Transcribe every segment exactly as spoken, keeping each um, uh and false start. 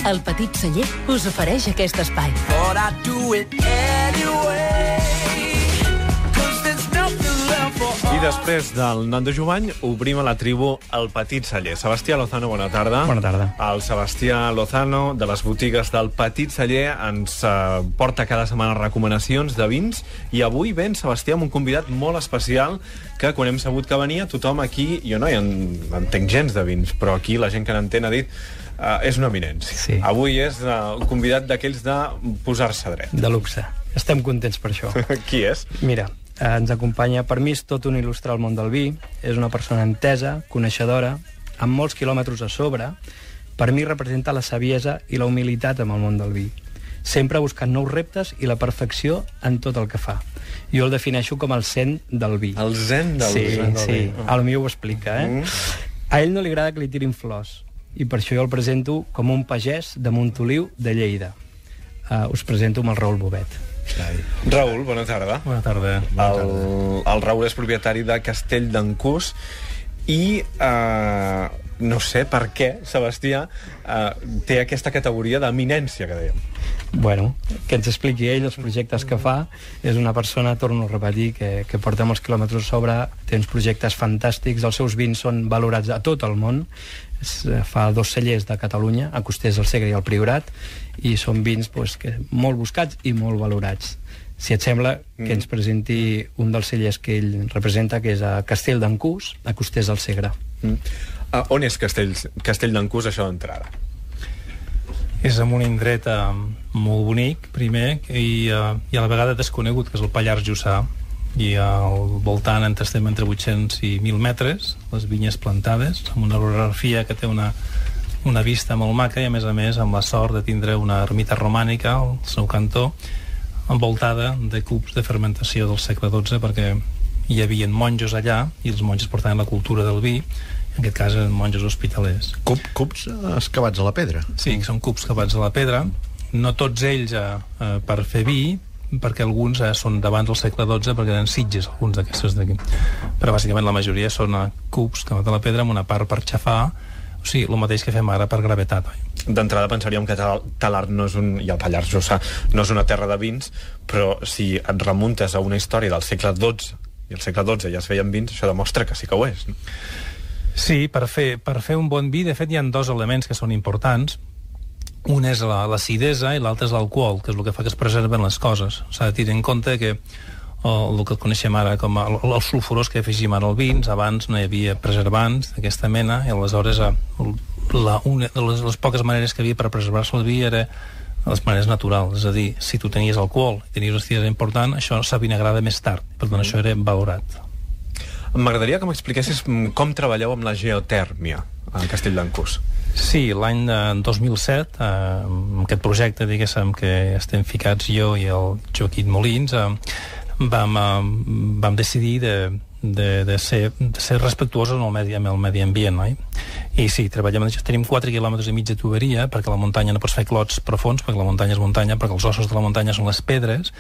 El Petit Celler us ofereix aquest espai. But I do it anyway. I després del Nando Jovany obrim a la tribu El Petit Celler. Sebastià Lozano, bona tarda. Bona tarda. El Sebastià Lozano, de les botigues del Petit Celler, ens eh, porta cada setmana recomanacions de vins, i avui ven, Sebastià, amb un convidat molt especial que quan hem sabut que venia, tothom aquí, jo no hi en, entenc gens de vins, però aquí la gent que n'entén ha dit uh, és una eminència. Sí. Avui és uh, un convidat d'aquells de posar-se dret. De luxe. Estem contents per això. Qui és? Mira, eh, ens acompanya, per mi és tot un il·lustre al món del vi, és una persona entesa, coneixedora, amb molts quilòmetres a sobre. Per mi representa la saviesa i la humilitat amb el món del vi, sempre buscant nous reptes i la perfecció en tot el que fa. Jo el defineixo com el zen del vi. El zen del sí, vi. Sí, sí. El meu ho explica, eh? Mm. A ell no li agrada que li tirin flors, i per això jo el presento com un pagès de Montoliu de Lleida. Uh, us presento amb el Raül Bobet. Raül, bona tarda. Bona tarda. Bona el, tarda. el Raül és propietari de Castell d'Encús i eh, no sé per què Sebastià eh, té aquesta categoria d'eminència que dèiem. Bueno, que ens expliqui ell els projectes que fa. És una persona, torno a repetir, que, que porta molts quilòmetres a sobre, té uns projectes fantàstics, els seus vins són valorats a tot el món. Fa dos cellers de Catalunya, a Costers, el Segre i el Priorat, i són vins pues, que, molt buscats i molt valorats. Si et sembla, mm. que ens presenti un dels cellers que ell representa, que és a Castell d'Encús, a Costers del Segre. Mm. Uh, on és Castell, Castell d'Encús, això d'entrada? És en un indret uh, molt bonic, primer, i, uh, i a la vegada desconegut, que és el Pallars Jussà, i al voltant entre, estem entre vuit-cents i mil metres, les vinyes plantades, amb una orografia que té una, una vista molt maca, i a més a més amb la sort de tindre una ermita romànica al seu cantó, envoltada de cups de fermentació del segle dotze, perquè hi havia monjos allà i els monjos portaven la cultura del vi, en aquest cas eren monjos hospitalers. Cup, cups excavats a la pedra. Sí, són cups excavats a la pedra, no tots ells eh, eh, per fer vi, perquè alguns eh, són d'abans del segle dotze, perquè eren sitges, alguns d'aquestos d'aquí. Però bàsicament la majoria són eh, cups excavats a la pedra, amb una part per xafar, o sigui, el mateix que fem ara per gravetat, oi? D'entrada pensaríem que Talard no és un, i el Pallars Jussà no és una terra de vins, però si et remuntes a una història del segle dotze, i al segle dotze ja es feien vins, això demostra que sí que ho és, no? Sí, per fer, per fer un bon vi, de fet, hi ha dos elements que són importants. Un és la, l'acidesa i l'altre és l'alcohol, que és el que fa que es preserven les coses. S'ha de tenir en compte que el, el que coneixem ara com el, els sulfurós que afegim ara als vins, abans no hi havia preservants d'aquesta mena, i aleshores la, una de les, les poques maneres que havia per preservar-se el vi era les maneres naturals, és a dir, si tu tenies alcohol i tenies una acidesa important, això s'avinagrava més tard, per tant això era valorat. M'agradaria que m'expliquessis com treballeu amb la geotèrmia a Castell d'Encús. Sí, l'any dos mil set, eh, amb aquest projecte, diguéssim, que estem ficats jo i el Joaquim Molins, eh, vam, eh, vam decidir de, de, de, ser, de ser respectuosos amb el medi, amb el medi ambient, oi? I sí, treballem, tenim quatre quilòmetres i mig de tuberia, perquè la muntanya no pots fer clots profuns, perquè la muntanya és muntanya, perquè els ossos de la muntanya són les pedres,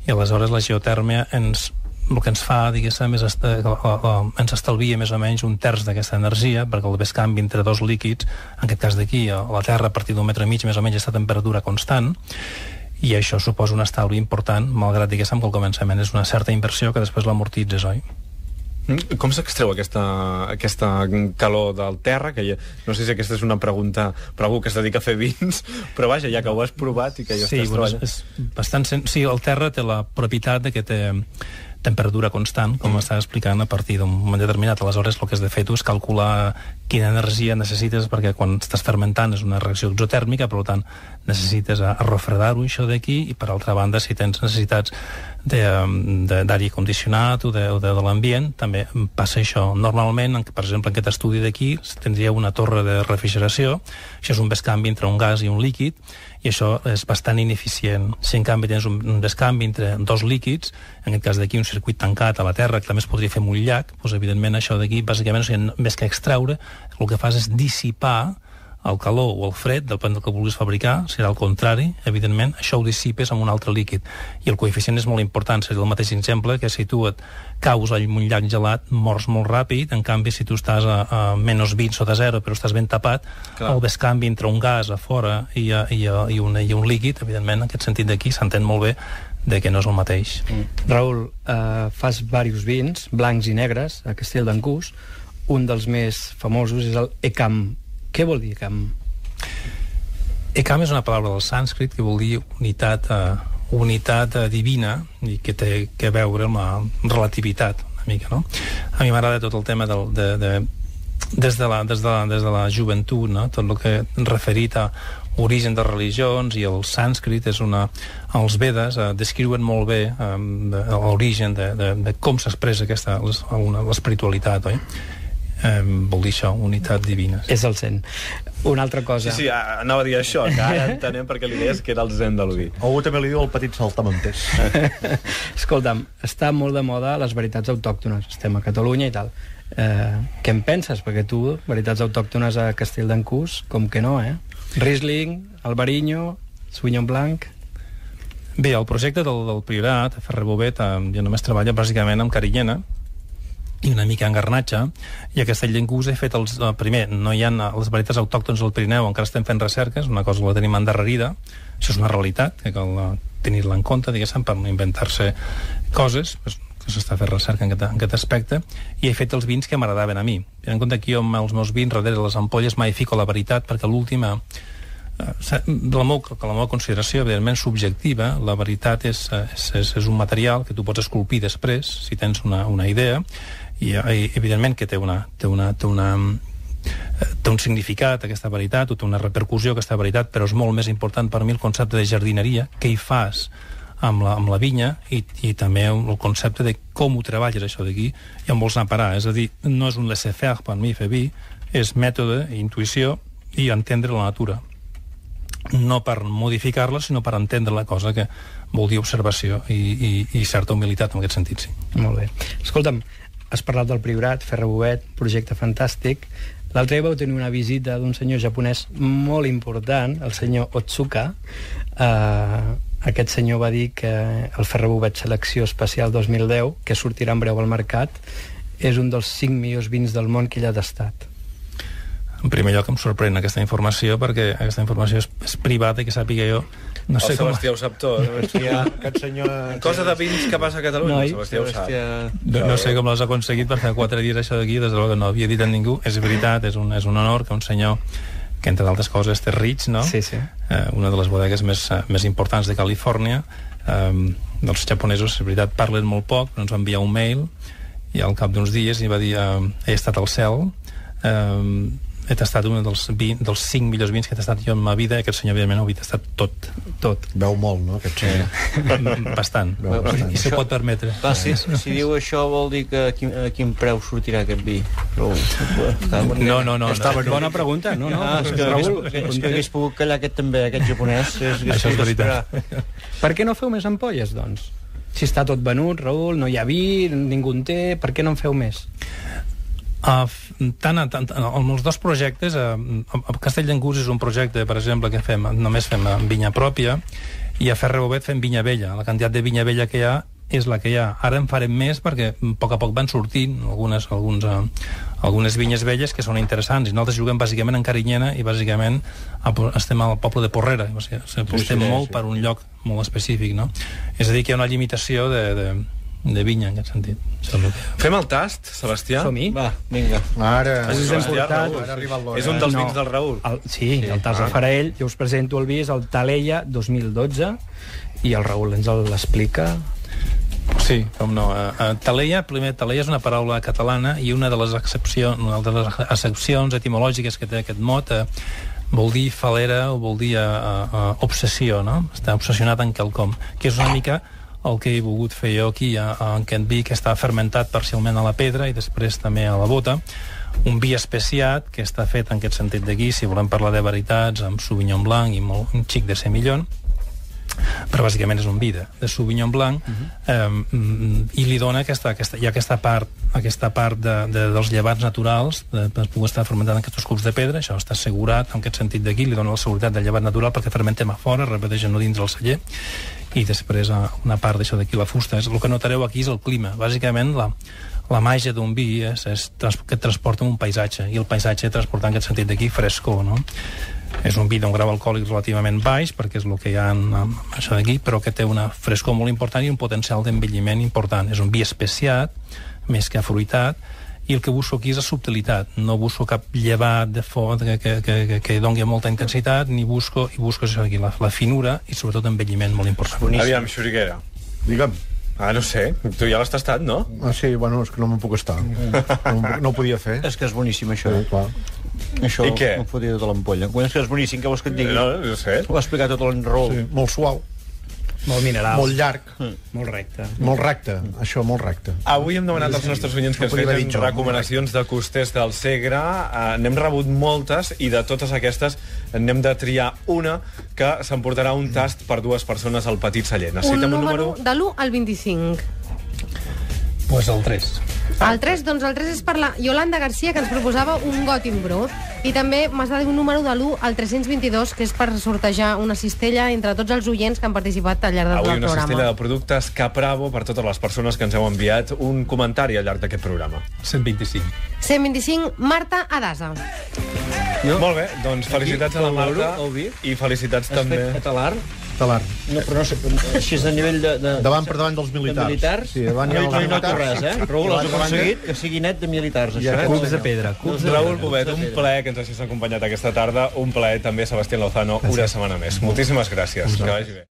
i aleshores la geotèrmia ens el que ens fa, diguéssim, és est ens estalvia més o menys un terç d'aquesta energia, perquè el bescanvi entre dos líquids, en aquest cas d'aquí, a la Terra, a partir d'un metre i mig, més o menys, està a temperatura constant, i això suposa un estalvi important, malgrat, diguéssim, que al començament és una certa inversió que després l'amortitzes, oi? Com s'extreu aquesta, aquesta calor del terra? Que ja, no sé si aquesta és una pregunta per algú que es dedica a fer vins, però vaja, ja que ho has provat i que ja sí, estàs bueno, treballant. És bastant sen... Sí, el terra té la propietat de que té temperatura constant, com mm. estava explicant, a partir d'un moment determinat. Aleshores, el que has de fer tu és calcular quina energia necessites, perquè quan estàs fermentant és una reacció exotèrmica, per tant, necessites a, a refredar-ho, això d'aquí, i per altra banda, si tens necessitats d'aire condicionat o de, de, de l'ambient, també passa això. Normalment, per exemple, en aquest estudi d'aquí, tindria una torre de refrigeració, això és un bescanvi entre un gas i un líquid, i això és bastant ineficient. Si en canvi tens un, un bescanvi entre dos líquids, en aquest cas d'aquí un circuit tancat a la Terra, que també es podria fer amb un llac, doncs evidentment això d'aquí, bàsicament, o sigui, més que extraure, el que fas és dissipar el calor o el fred, depèn del que vulguis fabricar, serà el contrari, evidentment, això ho dissipes amb un altre líquid. I el coeficient és molt important, seria el mateix exemple que si tu et caus en un llac gelat, mors molt ràpid, en canvi, si tu estàs a, a menys vint sota zero, però estàs ben tapat, clar, el bescanvi entre un gas a fora i, a, i, a, i, un, i un líquid, evidentment, en aquest sentit d'aquí s'entén molt bé de que no és el mateix. Mm. Raül, eh, fas diversos vins, blancs i negres, a Castell d'Encús. Un dels més famosos és el Ekam. Què vol dir Ekam? Ekam és una paraula del sànscrit que vol dir unitat, uh, unitat uh, divina i que té que veure amb la relativitat, una mica, no? A mi m'agrada tot el tema del, de, de, des, de la, des, de la, des de la joventut, no? Tot el que referit a origen de religions, i el sànscrit és una... Els Vedes eh, descriuen molt bé eh, l'origen de, de, de com s'expressa aquesta l'espiritualitat, oi? Eh, vol dir això, unitat divina. És el zen. Una altra cosa... Sí, sí, anava a dir això, que ara entenem perquè li deies que era el zen de l'Oví. Algú també li diu el petit saltamontes. Escolta'm, està molt de moda les varietats autòctones. Estem a Catalunya i tal. Eh, què en penses? Perquè tu, varietats autòctones a Castell d'Encús, com que no, eh? Riesling, Albariño, Sauvignon Blanc... Bé, el projecte del, del Priorat, a Ferrer Bovet, eh, jo només treballa bàsicament amb Carinyena i una mica en Garnatxa, i a Castell d'Encús he fet els... Eh, primer, no hi ha les varietats autòctones del Pirineu, encara estem fent recerques, una cosa que la tenim endarrerida, això és una realitat, que cal uh, tenir-la en compte, diguéssim, per no inventar-se coses, pues, que s'està fent recerca en aquest, en aquest aspecte, i he fet els vins que m'agradaven a mi. Tenint en compte que jo amb els meus vins, darrere les ampolles, mai fico la veritat, perquè l'última... La meva, la meva consideració, evidentment subjectiva, la veritat és, és, és un material que tu pots esculpir després, si tens una, una idea, i, i evidentment que té una, té una, té una té un significat aquesta veritat, o té una repercussió aquesta veritat, però és molt més important per mi el concepte de jardineria, què hi fas amb la, amb la vinya, i, i també el concepte de com ho treballes això d'aquí i on vols anar a parar. És a dir, no és un laissez-faire per mi fer vi, és mètode, intuïció i entendre la natura, no per modificar-la, sinó per entendre la cosa, que vol dir observació i, i, i certa humilitat en aquest sentit, sí. Molt bé. Escolta'm, has parlat del Priorat, Ferrer Bovet, projecte fantàstic. L'altre dia vau tenir una visita d'un senyor japonès molt important, el senyor Otsuka. Uh, aquest senyor va dir que el Ferrer Bovet Selecció Especial dos mil deu, que sortirà en breu al mercat, és un dels cinc millors vins del món que ell ha tastat. En primer lloc em sorprèn aquesta informació, perquè aquesta informació és, és privada i que sàpiga jo no sé el com... Sebastià ho sap tot. Sebastià, aquest senyor... Cosa de vins que passa a Catalunya, Noi, el Sebastià ho sap. No, no sé com l'has aconseguit, perquè fa quatre dies això d'aquí, des de que no havia dit a ningú. És veritat, és un, és un honor que un senyor que, entre d'altres coses, té Ridge, no? Sí, sí. Eh, una de les bodegues més, més importants de Califòrnia. Eh, els japonesos, és veritat, parlen molt poc, però ens va enviar un mail, i al cap d'uns dies i va dir eh, he estat al cel, eh, he tastat un dels, vint, dels cinc millors vins que he tastat jo en ma vida, i aquest senyor, evidentment, ho havia tastat tot. Tot. Veu molt, no, aquest senyor? Bastant. Veu bastant. I s'ho pot permetre. Clar, si, si diu això vol dir que a quin, a quin preu sortirà aquest vi? Però, no, no, no. Està no. bona pregunta, no, no. Ah, és que, Raül, és, és que hagués pogut callar aquest també, aquest japonès. És, és, Això és veritat. per què no feu més ampolles, doncs? Si està tot venut, Raül, no hi ha vi, ningú en té, per què no en feu més? Uh, tant, tant, amb els dos projectes, uh, a Castell d'Encús és un projecte, per exemple, que fem, només fem vinya pròpia, i a Ferrer Bovet fem vinya vella. La quantitat de vinya vella que hi ha és la que hi ha. Ara en farem més perquè a poc a poc van sortint algunes, alguns, uh, algunes vinyes velles que són interessants, i nosaltres juguem bàsicament en Carinyena i bàsicament estem al poble de Porrera, o sigui, apostem sí, sí, molt sí. per un lloc molt específic, no? És a dir, que hi ha una limitació de, de, de vinya en aquest sentit. Fem el tast, Sebastià? Som-hi? Va, vinga. Ara, Us hem Sebastià, portat... Raül. ara arriba l'hora. És un dels No. vins del Raül. El, sí, Sí. el tas de Farell. Jo us presento el vi, és el Taleia dos mil dotze, i el Raül ens l'explica. Sí, com no. Uh, Taleia, primer, Taleia és una paraula catalana, i una de les excepcions, una de les excepcions etimològiques que té aquest mot uh, vol dir falera o vol dir uh, uh, obsessió, no? Està obsessionat en quelcom, que és una mica el que he volgut fer jo aquí en aquest vi, que està fermentat parcialment a la pedra i després també a la bota. Un vi especiat que està fet en aquest sentit d'aquí, si volem parlar de veritats, amb Sauvignon Blanc i molt, un xic de semillon. però bàsicament és un vi de, de Sauvignon Blanc, uh-huh. eh, i li dona aquesta, aquesta, hi ha aquesta part, aquesta part de, de, dels llevats naturals, de, de poder estar fermentant en aquests cups de pedra, això està assegurat en aquest sentit d'aquí, li dona la seguretat del llevat natural perquè fermentem a fora, repeteixen no dins del celler, i després una part d'això d'aquí, la fusta. El que notareu aquí és el clima. Bàsicament, la, la màgia d'un vi és, és que et transporta un paisatge, i el paisatge transporta en aquest sentit d'aquí frescor, no? És un vi d'un grau alcohòlic relativament baix, perquè és el que hi ha en, en això d'aquí, però que té una frescor molt important i un potencial d'envelliment important. És un vi especiat, més que afruitat, i el que busco aquí és la subtilitat. No busco cap llevat de fort que, que, que, que doni molta intensitat, ni busco, i busco això aquí, la, la finura i sobretot envelliment molt important. Boníssim. Aviam, Xuriguera. Digue'm. Ah, no sé, tu ja l'has tastat, no? Ah, sí, bueno, és que no me'n puc estar. No, no ho podia fer. És que és boníssim, això. Sí, clar. Això I què? em fotia tota l'ampolla. Quan és que és boníssim, què vols que et digui? No, no sé. Ho ha explicat tot l'enrol. Sí, molt suau, Molt mineral. molt llarg, Molt recte. molt recte. Això, molt recte. Avui hem demanat als nostres oients que No ens podia haver fessin dit jo, recomanacions de costers del Segre. Uh, N'hem rebut moltes i de totes aquestes n'hem de triar una que s'emportarà un tast per dues persones al Petit Celler. Un Necessitem número, un número... de l'u al vint-i-cinc. Pues el tres. El tres, doncs el tres és per la Yolanda Garcia, que ens proposava un Gothic Brut. I també m'has de dir un número de l'u al tres-cents vint-i-dos, que és per sortejar una cistella entre tots els oients que han participat al llarg del Avui programa. una cistella de productes Capravo per totes les persones que ens heu enviat un comentari al llarg d'aquest programa. cent vint-i-cinc. cent vint-i-cinc, Marta Adasa. Jo? Molt bé, doncs felicitats a la Aquí, Marta el vi. i felicitats Has també... fet catalar? Talar. No, però no sé, així és a nivell de... de Davant per davant dels militars. De militars? Sí, davant hi ha no, els no hi noto militars. res, eh? Raül, has aconseguit que sigui net de militars, això, eh? Cubs de pedra. Cubs de Raül pedra. Bobet, un plaer que ens hagis acompanyat aquesta tarda, un plaer també Sebastián Lozano, una setmana més. Moltíssimes gràcies, que vagi bé.